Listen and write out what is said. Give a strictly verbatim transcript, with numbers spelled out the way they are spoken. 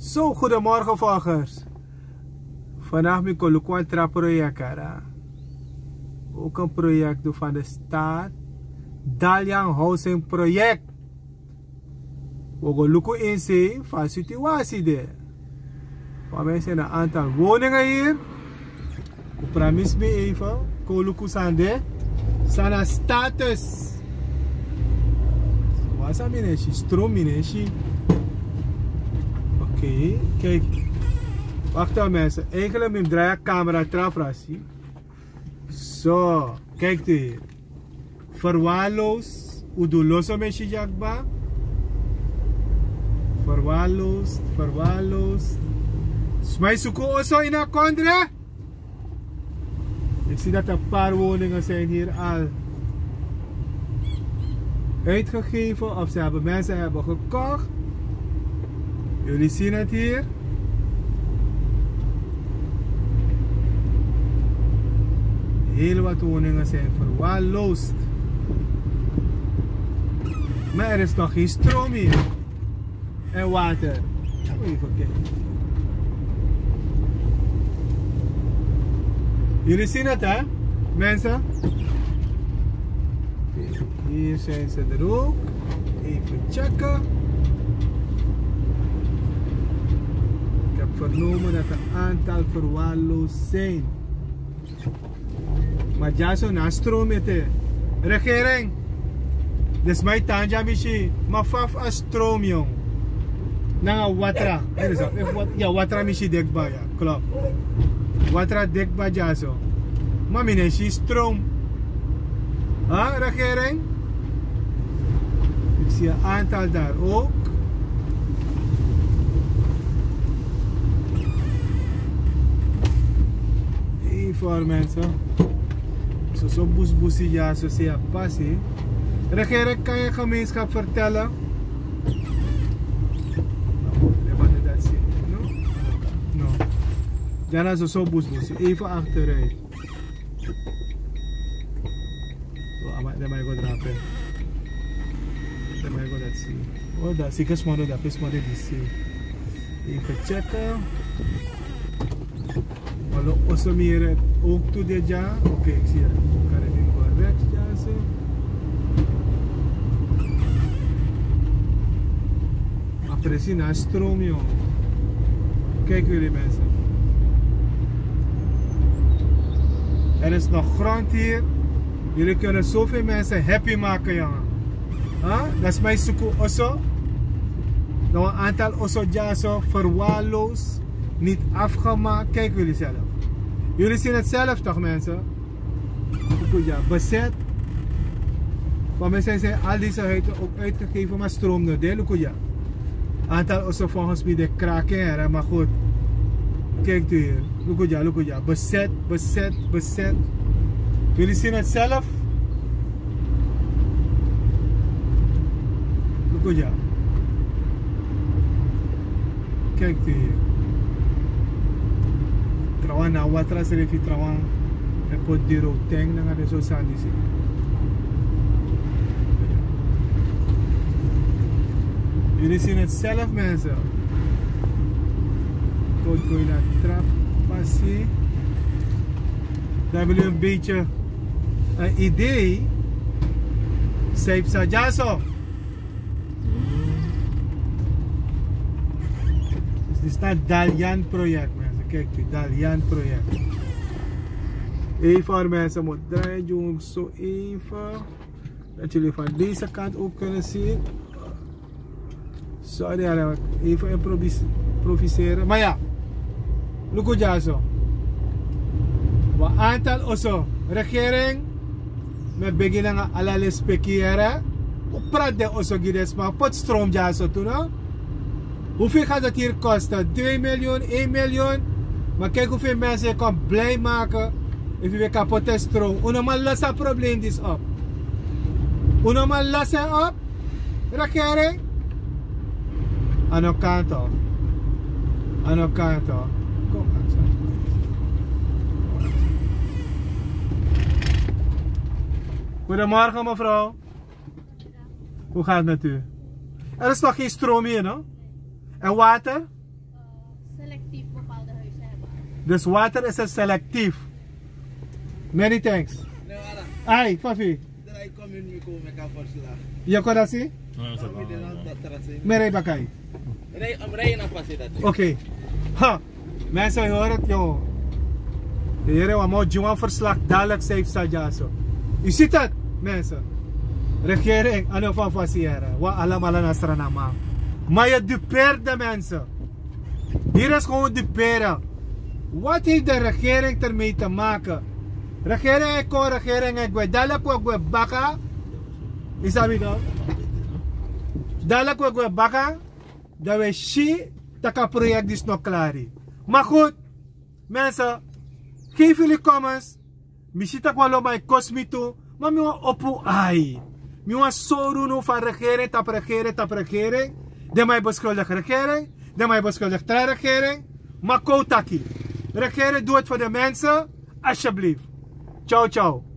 Zo, goedemorgen volgers. Vandaag mi kon luku wan tra project, hè. Ook een project van de staat. Dalian Housing Project. We go luku in zee van situatie de. Want mensen, een aantal woningen hier. We pramis mi even. Kon luku san de. San na status. Wasa mi no e si, stroom mi no e si. Oké, kijk. Wacht even mensen. Eigenlijk mi drai a camera tra fu si. Zo, kijk hier. Verwaarloosd. Un du loso mesi dya kba. Verwaarloosd, verwaarloosd. Sma e suku oso ini a kondre. Ik zie dat een paar woningen zijn hier al uitgegeven of ze hebben, mensen hebben gekocht. Jullie zien het hier. Heel wat woningen zijn verwaarloosd. Maar er is nog geen stroom hier. En water. Even kijken. Jullie zien het, hè, mensen? Hier zijn ze er ook. Even checken. Ik heb vernomen dat een aantal verwaarloosd zijn. Ma dyaso na stroom ete. Regering. Dus mi tan dya mi si. Ma fa fu a stroom, yong. Nanga watra. Er is a, efu wat-, ya, watra mi si de kba, ya. Klopt. Watra de kba dyaso. Ma mi no e si stroom. Ha, regering? Ik zie een aantal daar ook. Hey, voor mensen. Soso busbusi dyaso, san e pasa. Regering, kan je gemeenschap vertellen? No, no. Dya na soso busbusi. Even achteruit. Oh, ama, den man e go drape. Den man e go dati si. Oh, dati si, ke sma no, dati sma de disi. Even checken. Alo, oso mi yere ook tu de dya. Oké, ik zie het. Kan het niet correct, ja, zo. A presi na stroom, yong. Kijk jullie mensen. Er is nog grond hier. Jullie kunnen zoveel mensen happy maken, jongen. Huh? Dati sma e suku oso. Nog een aantal oso dyaso, verwaarloosd, niet afgemaakt. Kijk jullie zelf. Jullie zien het zelf toch, mensen? Luku dya, bezet. Voor mensen zijn al deze huizen ook uitgegeven, maar stroom no de, luku dya. Aantal oso volgens mij de kraken, hè, maar goed. Kijk hier. Luku dya, luku dya. Bezet, bezet, bezet. Jullie zien het zelf. Luku dya. Kijk hier. Trawan na watra srefi, trawan. En poti diri ten nanga den so sani disi. Jullie zien het zelf, mensen. Kon go ini a tra pasi. Dan hebben jullie een beetje een idee. San e psa dyaso. Dus dit is dat Dalian project, mensen. Kijk, die Dalian project. Even, mensen, moet draaien, jongens. Zo even. Dat jullie van deze kant ook kunnen zien. Sorry, hè, even improvis-, improviseren. Maar ja, luku dyaso. Wan aantal oso, regering, mi e begi nanga ala lespeki, yere. Un prati den oso gi den sma, poti stroom dyaso tu, no? Hoeveel gaat het hier kosten? Twee miljoen, één miljoen. Maar kijk hoeveel mensen je kan blij maken. Efu wi kan poti stroom. Un no man los a probleem disi op. Un no man los en op. Regering. A no kan toch. A no kan toch. Kom, Aksa. Goedemorgen, mevrouw. Hoe gaat het met u? Er is toch geen stroom hier, no? En water? Dus water is selectief. Many thanks. Ai, Fafi. Yu kon dati si? Mi e rei baka. Oké. Ha. Mensen, yu hori dati, yu. Yu hori wan man o gi wan verslag, dadilik san yu psa dyaso. Yu si dati, mensen. Regering, a no Fafa si yere. Wi alamala na Sranan man. Ma yu duperi den mensen. Hier is gewoon duperen. Wat heeft de regering ermee te maken? Regering e kon, regering e gwe. Dadilik wi e gwe baka. Yu sabi no? Dadilik wi e gwe baka. Dan wi e si taki a project disi no klari. Maar goed, mensen, geef jullie comments. Mi si taki wan lo man e kosi mi tu. Ma mi wani opo ai. Mi wani sori unu fa regering tapu regering tapu regering. Den man e beschuldig regering. Den man e beschuldig tra regering. Ma kon taki. Regering, doe het voor de mensen. Alsjeblieft. Ciao, ciao.